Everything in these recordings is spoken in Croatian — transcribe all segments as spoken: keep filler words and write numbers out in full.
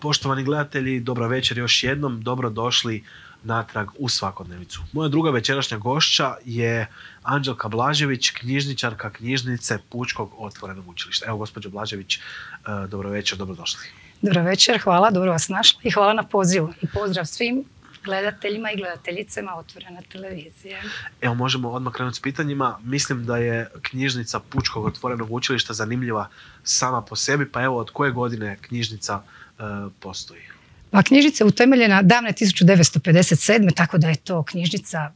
Poštovani gledatelji, dobro večer još jednom, dobrodošli natrag u svakodnevicu. Moja druga večerašnja gošća je Anđelka Blažević, knjižničarka knjižnice Pučkog otvorenog učilišta. Evo, gospođo Blažević, dobro večer, dobrodošli. Dobro večer, hvala, dobro vas našla i hvala na pozivu. I pozdrav svim gledateljima i gledateljicama Otvorene televizije. Evo, možemo odmah krenuti s pitanjima. Mislim da je knjižnica Pučkog otvorenog učilišta zanimljiva sama po sebi, pa evo, od koje godine knjižnica uh, postoji? Pa knjižnica je utemeljena davne tisuću devetsto pedeset sedme. tako da je to knjižnica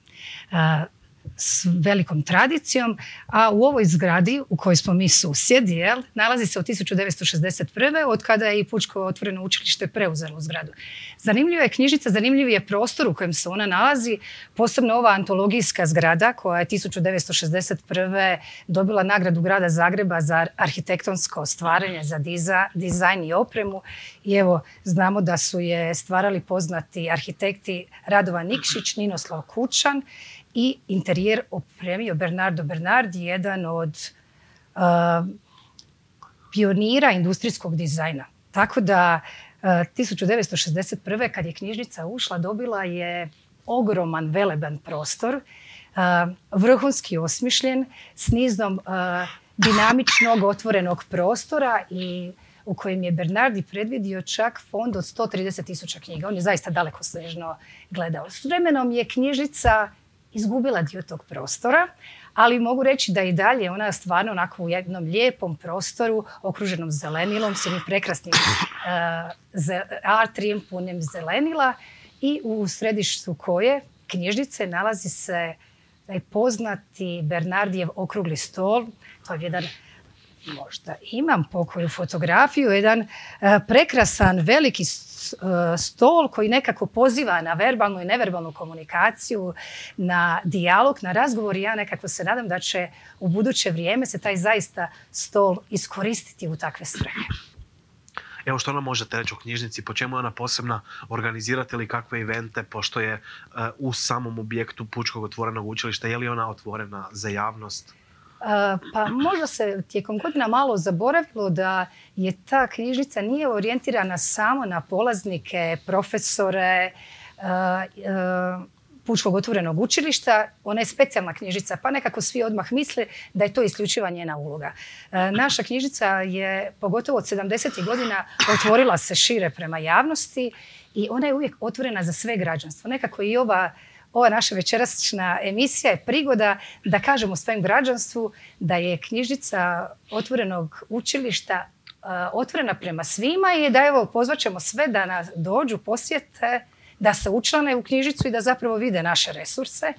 uh, s velikom tradicijom, a u ovoj zgradi u kojoj smo mi susjedi, jel, nalazi se od tisuću devetsto šezdeset prve. od kada je i Pučko otvoreno učilište preuzelo zgradu. Zanimljiva je knjižnica, zanimljiv je prostor u kojem se ona nalazi, posebno ova antologijska zgrada koja je tisuću devetsto šezdeset prve. dobila nagradu grada Zagreba za arhitektonsko stvaranje, za diza, dizajn i opremu. I evo, znamo da su je stvarali poznati arhitekti Radovan Nikšić, Ninoslav Kučan, i interijer opremio Bernardo Bernardi, jedan od uh, pionira industrijskog dizajna. Tako da uh, tisuću devetsto šezdeset prve. kad je knjižnica ušla, dobila je ogroman, veleban prostor, uh, vrhunski osmišljen, s nizom uh, dinamičnog otvorenog prostora i u kojem je Bernardi predvidio čak fond od sto trideset tisuća knjiga. On je zaista dalekosežno gledao. S vremenom je knjižnica izgubila dio tog prostora, ali mogu reći da i dalje ona je stvarno onako u jednom lijepom prostoru okruženom zelenilom, s jednim prekrasnim uh, atrijem punim zelenila, i u središtu koje knjižnice nalazi se taj poznati Bernardijev okrugli stol. To je jedan, možda imam pokoju fotografiju, jedan uh, prekrasan veliki stol koji nekako poziva na verbalnu i neverbalnu komunikaciju, na dijalog, na razgovor, i ja nekako se nadam da će u buduće vrijeme se taj zaista stol iskoristiti u takve svrhe. Evo, što nam možete reći o knjižnici, po čemu je ona posebna, organizirate li kakve evente, pošto je uh, u samom objektu Pučkog otvorenog učilišta, je li ona otvorena za javnost? Pa možda se tijekom godina malo zaboravilo da je ta knjižnica nije orijentirana samo na polaznike, profesore Pučkog otvorenog učilišta. Ona je specijalna knjižnica, pa nekako svi odmah misle da je to isključiva njena uloga. Naša knjižnica je, pogotovo od sedamdesetih godina, otvorila se šire prema javnosti i ona je uvijek otvorena za sve građanstvo. Nekako i ova Ova naša večerašnja emisija je prigoda da kažemo svojem građanstvu da je knjižnica otvorenog učilišta uh, otvorena prema svima i da evo pozvaćemo sve da nas dođu, posjete, da se učlane u knjižnicu i da zapravo vide naše resurse.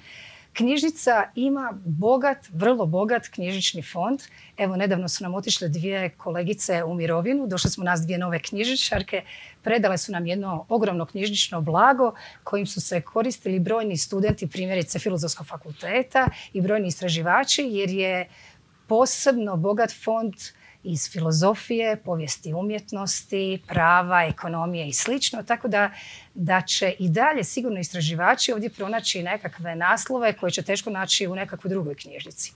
Knjižnica ima bogat, vrlo bogat knjižnični fond. Evo, nedavno su nam otišle dvije kolegice u mirovinu. Došle smo nas dvije nove knjižničarke. Predale su nam jedno ogromno knjižnično blago kojim su se koristili brojni studenti, primjerice Filozofskog fakulteta, i brojni istraživači, jer je posebno bogat fond iz filozofije, povijesti umjetnosti, prava, ekonomije i slično. Tako da, da će i dalje sigurno istraživači ovdje pronaći nekakve naslove koje će teško naći u nekakvoj drugoj knjižnici.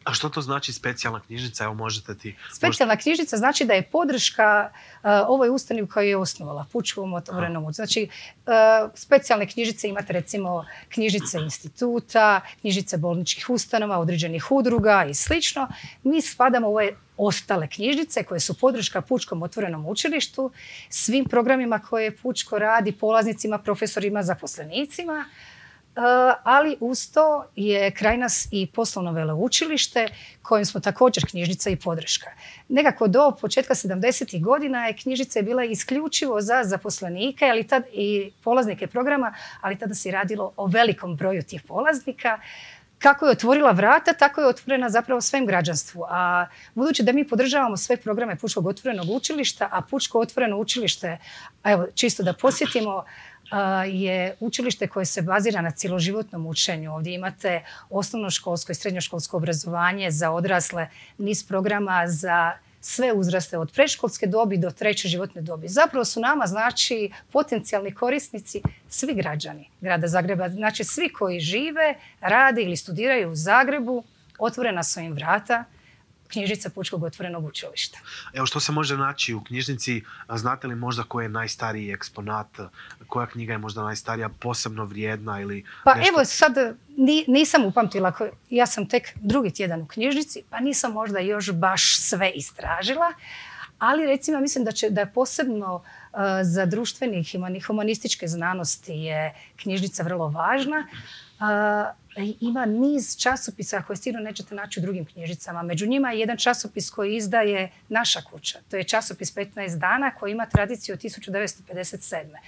A što to znači specijalna knjižnica? Evo, možete ti... Specijalna knjižnica znači da je podrška uh, ovoj ustanovi koju je osnovala, Pučkom otvorenom učilištu. Znači, uh, specijalne knjižnice imate recimo knjižnice instituta, knjižnice bolničkih ustanova, određenih udruga i slično. Mi spadamo u ove ostale knjižnice koje su podrška Pučkom otvorenom učilištu, svim programima koje Pučko radi, polaznicima, profesorima, zaposlenicima. Uh, ali uz to je kraj nas i poslovno veleučilište kojem smo također knjižnica i podrška. Nekako do početka sedamdesetih godina je knjižnica bila isključivo za zaposlenike, ali tad i polaznike programa, ali tada se radilo o velikom broju tih polaznika. Kako je otvorila vrata, tako je otvorena zapravo svem građanstvu. A budući da mi podržavamo sve programe Pučkog otvorenog učilišta, a Pučko otvoreno učilište, evo, čisto da posjetimo, je učilište koje se bazira na cjeloživotnom učenju. Ovdje imate osnovnoškolsko i srednjoškolsko obrazovanje za odrasle, niz programa za sve uzraste od predškolske dobi do treće životne dobi. Zapravo su nama, znači, potencijalni korisnici svi građani grada Zagreba. Znači, svi koji žive, rade ili studiraju u Zagrebu, otvorena su im vrata. knjižnica Pučkog otvorenog učilišta. Evo, što se može naći u knjižnici? Znate li možda koji je najstariji eksponat? Koja knjiga je možda najstarija, posebno vrijedna ili Pa nešto? evo sad ni, nisam upamtila, ja sam tek drugi tjedan u knjižnici, pa nisam možda još baš sve istražila, ali recimo mislim da, će, da je posebno uh, za društvene i humanističke znanosti je knjižnica vrlo važna. Uh, ima niz časopisa koje sigurno nećete naći u drugim knjižnicama. Među njima je jedan časopis koji izdaje naša kuća. To je časopis petnaest dana koji ima tradiciju od tisuću devetsto pedeset sedme.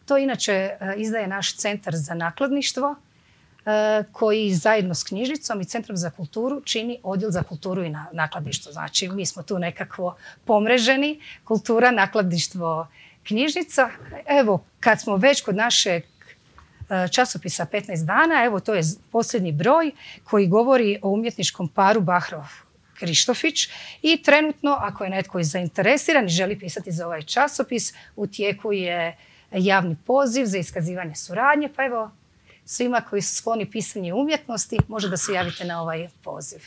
To inače uh, izdaje naš centar za nakladništvo uh, koji zajedno s knjižnicom i Centrom za kulturu čini odjel za kulturu i na, nakladništvo. Znači mi smo tu nekako pomreženi, kultura, nakladništvo, knjižnica. Evo, kad smo već kod našeg časopisa petnaest dana, evo to je posljednji broj koji govori o umjetničkom paru Bahrov-Krištofić i trenutno, ako je netko zainteresiran i želi pisati za ovaj časopis, u tijeku je javni poziv za iskazivanje suradnje, pa evo svima koji su skloni pisanju umjetnosti može da se javite na ovaj poziv.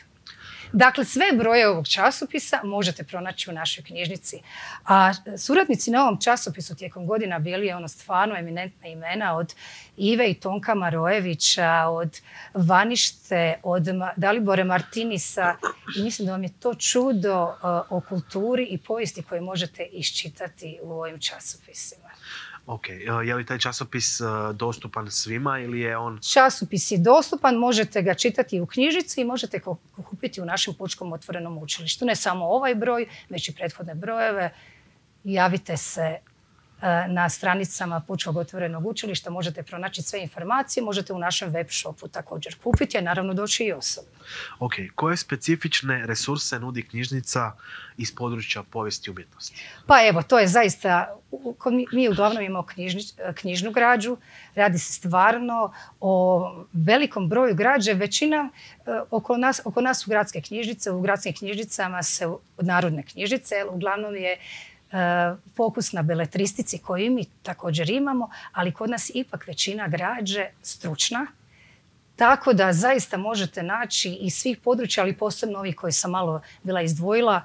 Dakle, sve broje ovog časopisa možete pronaći u našoj knjižnici. A suradnici na ovom časopisu tijekom godina bili je ono stvarno eminentna imena od Ive i Tonka Marojevića, od Vanište, od Dalibore Martinisa. I mislim da vam je to čudo uh, o kulturi i povijesti koje možete iščitati u ovim časopisima. Ok, je li taj časopis dostupan svima ili je on... Časopis je dostupan, možete ga čitati u knjižnici i možete ga kupiti u našem Pučkom otvorenom učilištu. Ne samo ovaj broj, već i prethodne brojeve. Javite se na stranicama Pučkog otvorenog učilišta, možete pronaći sve informacije, možete u našem web shopu također kupiti, a naravno doći i osobno. Ok, koje specifične resurse nudi knjižnica iz područja povijesti i umjetnosti? Pa evo, to je zaista, mi uglavnom imamo knjižni, knjižnu građu, radi se stvarno o velikom broju građe, većina oko nas, oko nas su gradske knjižnice, u gradskim knjižnicama se narodne knjižnice, uglavnom je fokus na beletristici koju mi također imamo, ali kod nas ipak većina građe stručna, tako da zaista možete naći iz svih područja, ali posebno ovih koji sam malo bila izdvojila,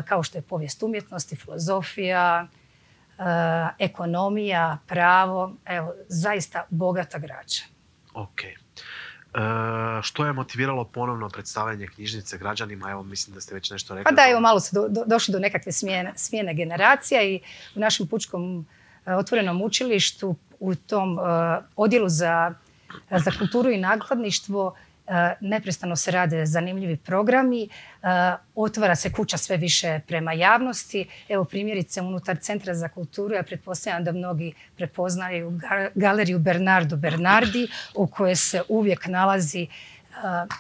kao što je povijest umjetnosti, filozofija, ekonomija, pravo, evo, zaista bogata građa. Ok. E, što je motiviralo ponovno predstavljanje knjižnice građanima? Evo, mislim da ste već nešto rekli. Pa da, evo, malo su do, do, došli do nekakve smjene, smjene generacija i u našem Pučkom uh, otvorenom učilištu u tom uh, odjelu za, za kulturu i nakladništvo uh, neprestano se rade zanimljivi programi. Uh, otvara se kuća sve više prema javnosti. Evo, primjerice, unutar Centra za kulturu, ja pretpostavljam da mnogi prepoznaju galeriju Bernardo Bernardi, u kojoj se uvijek nalazi uh,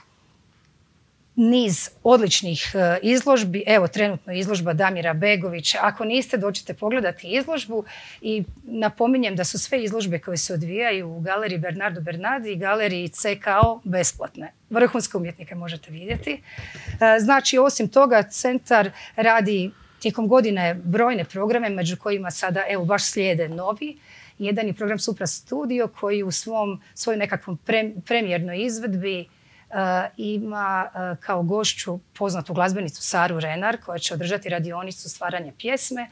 niz odličnih uh, izložbi. Evo, trenutno izložba Damira Begovića. Ako niste, dođite pogledati izložbu i napominjem da su sve izložbe koje se odvijaju u galeriji Bernardo Bernardi i galeriji C K O besplatne. Vrhunske umjetnike možete vidjeti. Uh, znači, osim toga, centar radi tijekom godine brojne programe, među kojima sada, evo, baš slijede novi. Jedan je program Supra Studio koji u svom, svojoj nekakvom pre, premijernoj izvedbi Uh, ima uh, kao gošću poznatu glazbenicu Saru Renar koja će održati radionicu stvaranja pjesme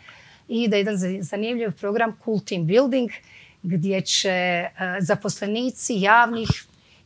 i da je jedan zanimljiv program Cool Team Building gdje će uh, zaposlenici javnih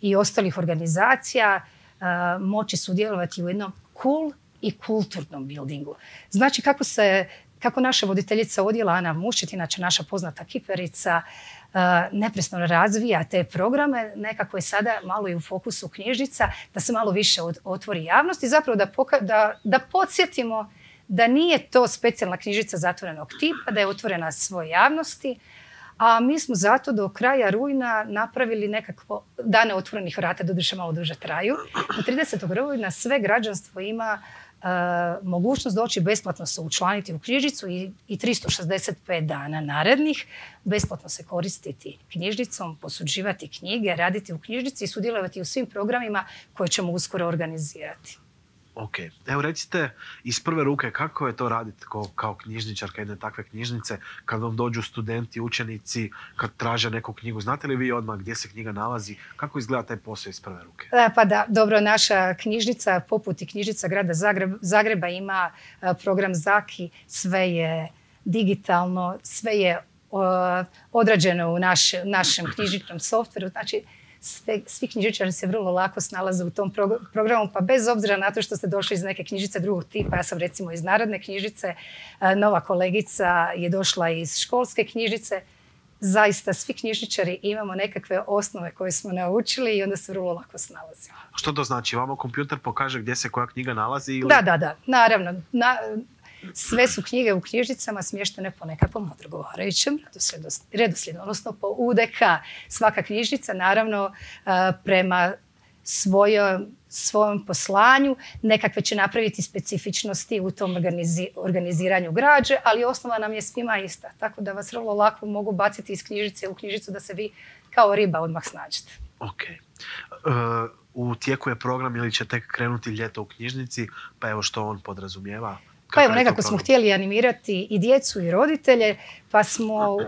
i ostalih organizacija uh, moći sudjelovati u jednom cool i kulturnom buildingu. Znači kako se kako naša voditeljica odjela Ana Muščet, inače naša poznata kiperica, uh, neprestano razvija te programe, nekako je sada malo i u fokusu knjižnica, da se malo više od, otvori javnost i zapravo da, poka- da, da podsjetimo da nije to specijalna knjižnica zatvorenog tipa, da je otvorena svoj javnosti, a mi smo zato do kraja rujna napravili nekakvo dane otvorenih vrata, doduše malo duže traju. Do tridesetog rujna sve građanstvo ima Uh, mogućnost doći besplatno se učlaniti u knjižnicu i, i tristo šezdeset pet dana narednih besplatno se koristiti knjižnicom, posuđivati knjige, raditi u knjižnici i sudjelovati u svim programima koje ćemo uskoro organizirati. Ok, evo recite iz prve ruke kako je to raditi kao, kao knjižničarka jedne takve knjižnice, kad vam dođu studenti, učenici, kad traže neku knjigu, znate li vi odmah gdje se knjiga nalazi, kako izgleda taj posao iz prve ruke? E, pa da, dobro, naša knjižnica, poput i knjižnica grada Zagreb, Zagreba ima a, program Zaki, sve je digitalno, sve je a, odrađeno u naš, našem knjižničnom softveru, znači Sve, svi knjižničari se vrlo lako snalaze u tom pro, programu, pa bez obzira na to što ste došli iz neke knjižnice drugog tipa, ja sam recimo iz Narodne knjižnice, nova kolegica je došla iz školske knjižnice, zaista svi knjižničari imamo nekakve osnove koje smo naučili i onda se vrlo lako snalazimo. Što to znači? Vama kompjuter pokaže gdje se koja knjiga nalazi? Ili... Da, da, da, naravno. Na, sve su knjige u knjižnicama smještene po nekakvom odgovarajućem redoslijedu, odnosno po U D K. Svaka knjižnica, naravno, prema svojom, svojom poslanju nekakve će napraviti specifičnosti u tom organizi, organiziranju građe, ali osnova nam je svima ista. Tako da vas vrlo lako mogu baciti iz knjižnice u knjižnicu da se vi kao riba odmah snađete. Ok. Uh, u tijeku je program ili će tek krenuti ljeto u knjižnici, pa evo što on podrazumijeva? Pa evo, nekako smo htjeli animirati i djecu i roditelje, pa smo uh,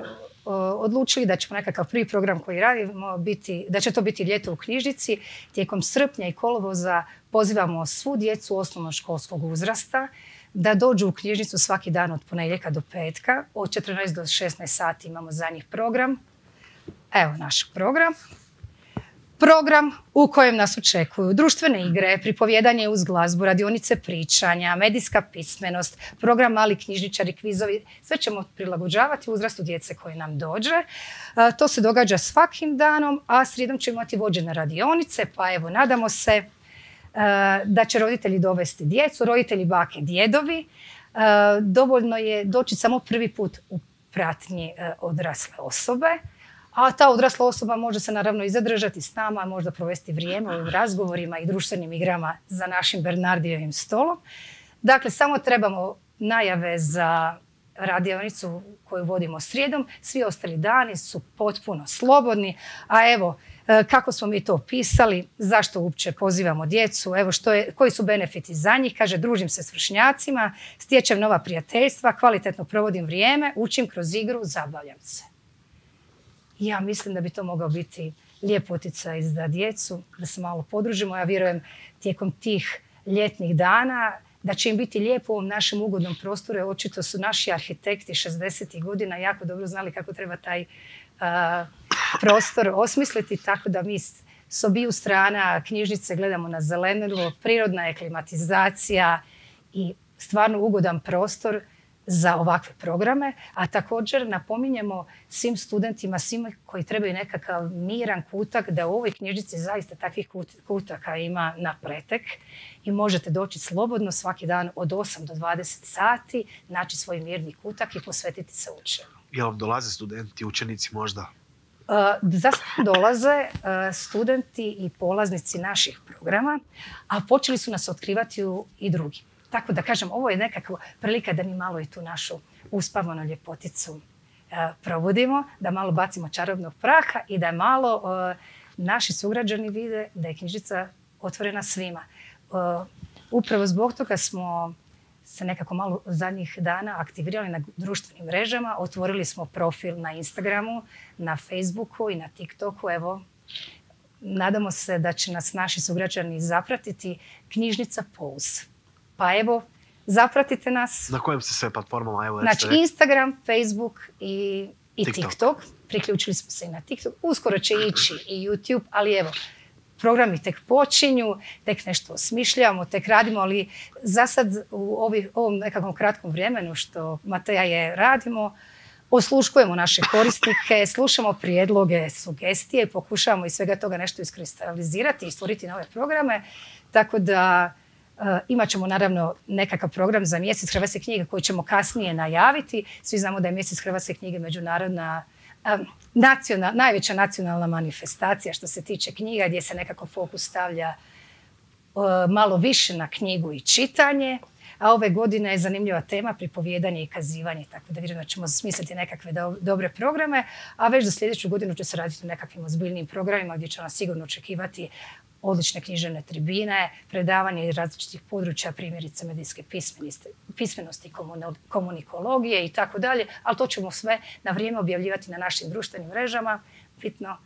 odlučili da ćemo nekakav prvi program koji radimo biti, da će to biti ljeto u knjižnici. Tijekom srpnja i kolovoza pozivamo svu djecu osnovnoškolskog uzrasta da dođu u knjižnicu svaki dan od ponedjeljka do petka. Od četrnaest do šesnaest sati imamo za njih program. Evo naš program. Program u kojem nas očekuju društvene igre, pripovjedanje uz glazbu, radionice pričanja, medijska pismenost, program mali knjižničari, kvizovi. Sve ćemo prilagođavati uzrastu djece koje nam dođe. To se događa svakim danom, a srijedom ćemo imati vođene radionice, pa evo nadamo se da će roditelji dovesti djecu, roditelji bake, djedovi. Dovoljno je doći samo prvi put u pratnji odrasle osobe. A ta odrasla osoba može se naravno i zadržati s nama, možda provesti vrijeme u razgovorima i društvenim igrama za našim Bernardijevim stolom. Dakle, samo trebamo najave za radionicu koju vodimo srijedom. Svi ostali dani su potpuno slobodni. A evo, kako smo mi to opisali, zašto uopće pozivamo djecu, evo što je, koji su benefiti za njih. Kaže, družim se s vršnjacima, stječem nova prijateljstva, kvalitetno provodim vrijeme, učim kroz igru, zabavljam se. Ja mislim da bi to mogao biti lijep utjecaj za djecu, da se malo podružimo. Ja vjerujem tijekom tih ljetnih dana da će im biti lijepo u ovom našem ugodnom prostoru. Očito su naši arhitekti šezdesetih godina jako dobro znali kako treba taj uh, prostor osmisliti, tako da mi s obiju strana knjižnice gledamo na zelenilo, prirodna je klimatizacija i stvarno ugodan prostor za ovakve programe, a također napominjemo svim studentima, svima koji trebaju nekakav miran kutak, da u ovoj knjižnici zaista takvih kutaka ima na pretek i možete doći slobodno svaki dan od osam do dvadeset sati, naći svoj mirni kutak i posvetiti se učenju. Jel vam dolaze studenti, učenici možda? Uh, Zašto dolaze uh, studenti i polaznici naših programa, a počeli su nas otkrivati u, i drugi. Tako da kažem, ovo je nekakva prilika da mi malo i tu našu uspavanu ljepoticu uh, probudimo, da malo bacimo čarobnog praha i da malo uh, naši sugrađani vide da je knjižnica otvorena svima. Uh, upravo zbog toga smo se nekako malo zadnjih dana aktivirali na društvenim mrežama, otvorili smo profil na Instagramu, na Facebooku i na TikToku. Evo, nadamo se da će nas naši sugrađani zapratiti, knjižnica Pulse. Pa evo, zapratite nas. Na kojim se sve platformama? Evo, znači Instagram, Facebook i, i TikTok. TikTok. Priključili smo se i na TikTok. Uskoro će ići i YouTube, ali evo, programi tek počinju, tek nešto osmišljamo, tek radimo, ali za sad u ovi, ovom nekakvom kratkom vremenu što Mateja je radimo, osluškujemo naše korisnike, slušamo prijedloge, sugestije, pokušavamo iz svega toga nešto iskristalizirati i stvoriti nove programe, tako da Uh, imat ćemo naravno nekakav program za mjesec hrvatske knjige koji ćemo kasnije najaviti. Svi znamo da je mjesec hrvatske knjige međunarodna, um, nacional, najveća nacionalna manifestacija što se tiče knjiga, gdje se nekako fokus stavlja uh, malo više na knjigu i čitanje. A ove godine je zanimljiva tema pripovjedanje i kazivanje, tako da vjerujem da ćemo smisliti nekakve do, dobre programe, a već za sljedeću godinu će se raditi o nekakvim ozbiljnim programima gdje će nas sigurno očekivati odlične književne tribine, predavanje iz različitih područja, primjerice medijske pismenosti, komunikologije i tako dalje, ali to ćemo sve na vrijeme objavljivati na našim društvenim mrežama. Bitno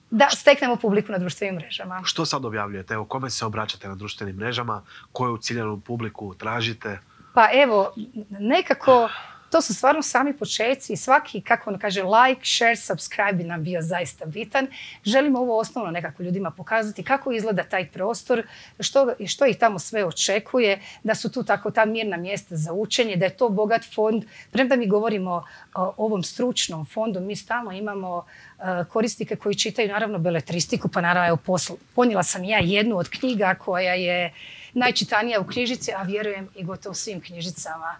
da steknemo publiku na društvenim mrežama. Što sad objavljujete? Evo, kome se obraćate na društvenim mrežama? Koju ciljanu publiku tražite? Pa evo, nekako to su stvarno sami početci i svaki, kako on kaže, like, share, subscribe bi nam bio zaista bitan. Želimo ovo osnovno nekako ljudima pokazati kako izgleda taj prostor, što, što ih tamo sve očekuje, da su tu tako ta mirna mjesta za učenje, da je to bogat fond. Premda mi govorimo o ovom stručnom fondu, mi stalno imamo uh, korisnike koji čitaju naravno beletristiku, pa naravno evo, posl- ponijela sam ja jednu od knjiga koja je najčitanija u knjižnici, a vjerujem i gotovo svim knjižnicama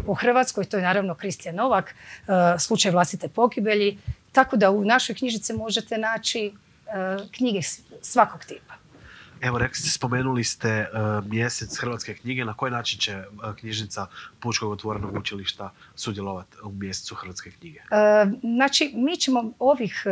u Hrvatskoj. To je naravno Kristijan Novak, Slučaj vlastite pogibelji. Tako da u našoj knjižnici možete naći knjige svakog tipa. Evo, rekli ste, spomenuli ste uh, mjesec hrvatske knjige. Na koji način će uh, knjižnica Pučkog otvorenog učilišta sudjelovati u mjesecu hrvatske knjige? Uh, znači, mi ćemo ovih,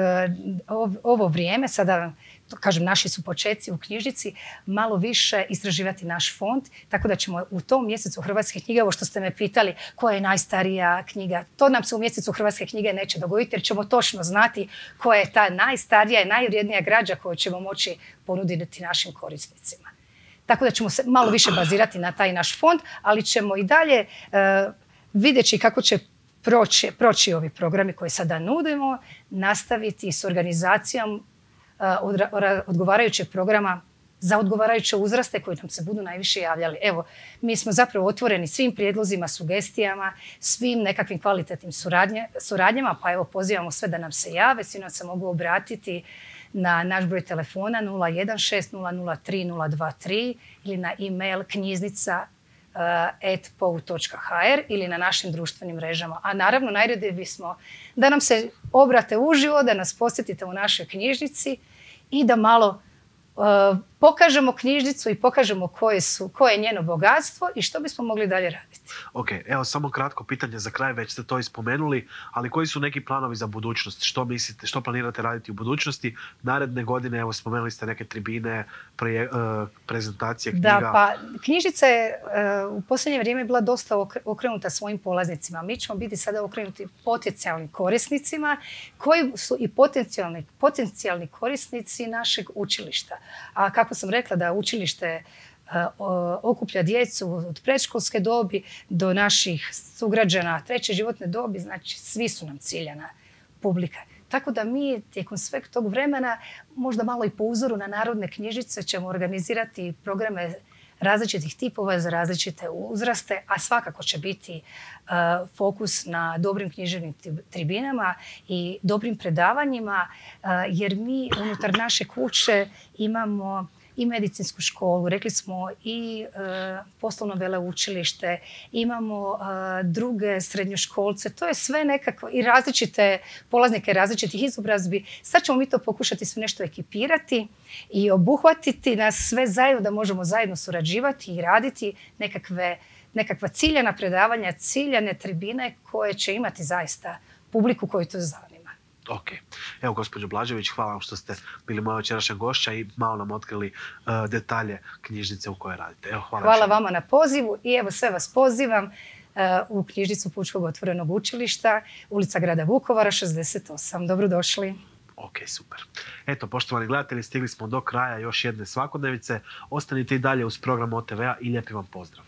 uh, ovo vrijeme, sada kažem, naši su početci u knjižnici, malo više istraživati naš fond, tako da ćemo u tom mjesecu hrvatske knjige, ovo što ste me pitali, koja je najstarija knjiga, to nam se u mjesecu hrvatske knjige neće dogoditi, jer ćemo točno znati koja je ta najstarija i najvrijednija građa koju ćemo moći ponuditi našim korisnicima. Tako da ćemo se malo više bazirati na taj naš fond, ali ćemo i dalje uh, vidjeti kako će proći, proći ovi programi koje sada nudimo, nastaviti s organizacijom odgovarajućeg programa za odgovarajuće uzraste koji nam se budu najviše javljali. Evo, mi smo zapravo otvoreni svim prijedlozima, sugestijama, svim nekakvim kvalitetnim suradnje, suradnjama, pa evo pozivamo sve da nam se jave, svi nam se mogu obratiti na naš broj telefona nula jedan šest nula nula tri nula dva tri ili na e-mail knjiznica et pou točka ha er ili na našim društvenim mrežama. A naravno, najradije bismo da nam se obrate uživo, da nas posjetite u našoj knjižnici i da malo uh, pokažemo knjižnicu i pokažemo koje, su, koje je njeno bogatstvo i što bismo mogli dalje raditi. Ok, evo samo kratko pitanje za kraj, već ste to ispomenuli, ali koji su neki planovi za budućnost? Što mislite, što planirate raditi u budućnosti? Naredne godine, evo spomenuli ste neke tribine, pre, uh, prezentacije knjiga. Da, pa knjižnica je uh, u posljednje vrijeme bila dosta okrenuta svojim polaznicima. Mi ćemo biti sada okrenuti potencijalnim korisnicima koji su i potencijalni, potencijalni korisnici našeg učilišta. A kako sam rekla da učilište okuplja djecu od predškolske dobi do naših sugrađana treće životne dobi, znači svi su nam ciljana publika. Tako da mi tijekom sveg tog vremena, možda malo i po uzoru na narodne knjižnice, ćemo organizirati programe različitih tipova za različite uzraste, a svakako će biti uh, fokus na dobrim književnim tribinama i dobrim predavanjima, uh, jer mi unutar naše kuće imamo i medicinsku školu, rekli smo i e, poslovno veleučilište, imamo e, druge srednjoškolce, to je sve nekako i različite polaznike različitih izobrazbi. Sad ćemo mi to pokušati sve nešto ekipirati i obuhvatiti nas sve zajedno da možemo zajedno surađivati i raditi nekakve, nekakva ciljana predavanja, ciljane tribine koje će imati zaista publiku koju to zanima. Ok. Evo, gospođo Blažević, hvala vam što ste bili moja večerašnja gošća i malo nam otkrili uh, detalje knjižnice u kojoj radite. Evo, hvala hvala vama na pozivu i evo sve vas pozivam uh, u knjižnicu Pučkog otvorenog učilišta, ulica grada Vukovara, šezdeset osam. Dobrodošli. Ok, super. Eto, poštovani gledatelji, stigli smo do kraja još jedne svakodnevice. Ostanite i dalje uz program o te ve a i lijepi vam pozdrav.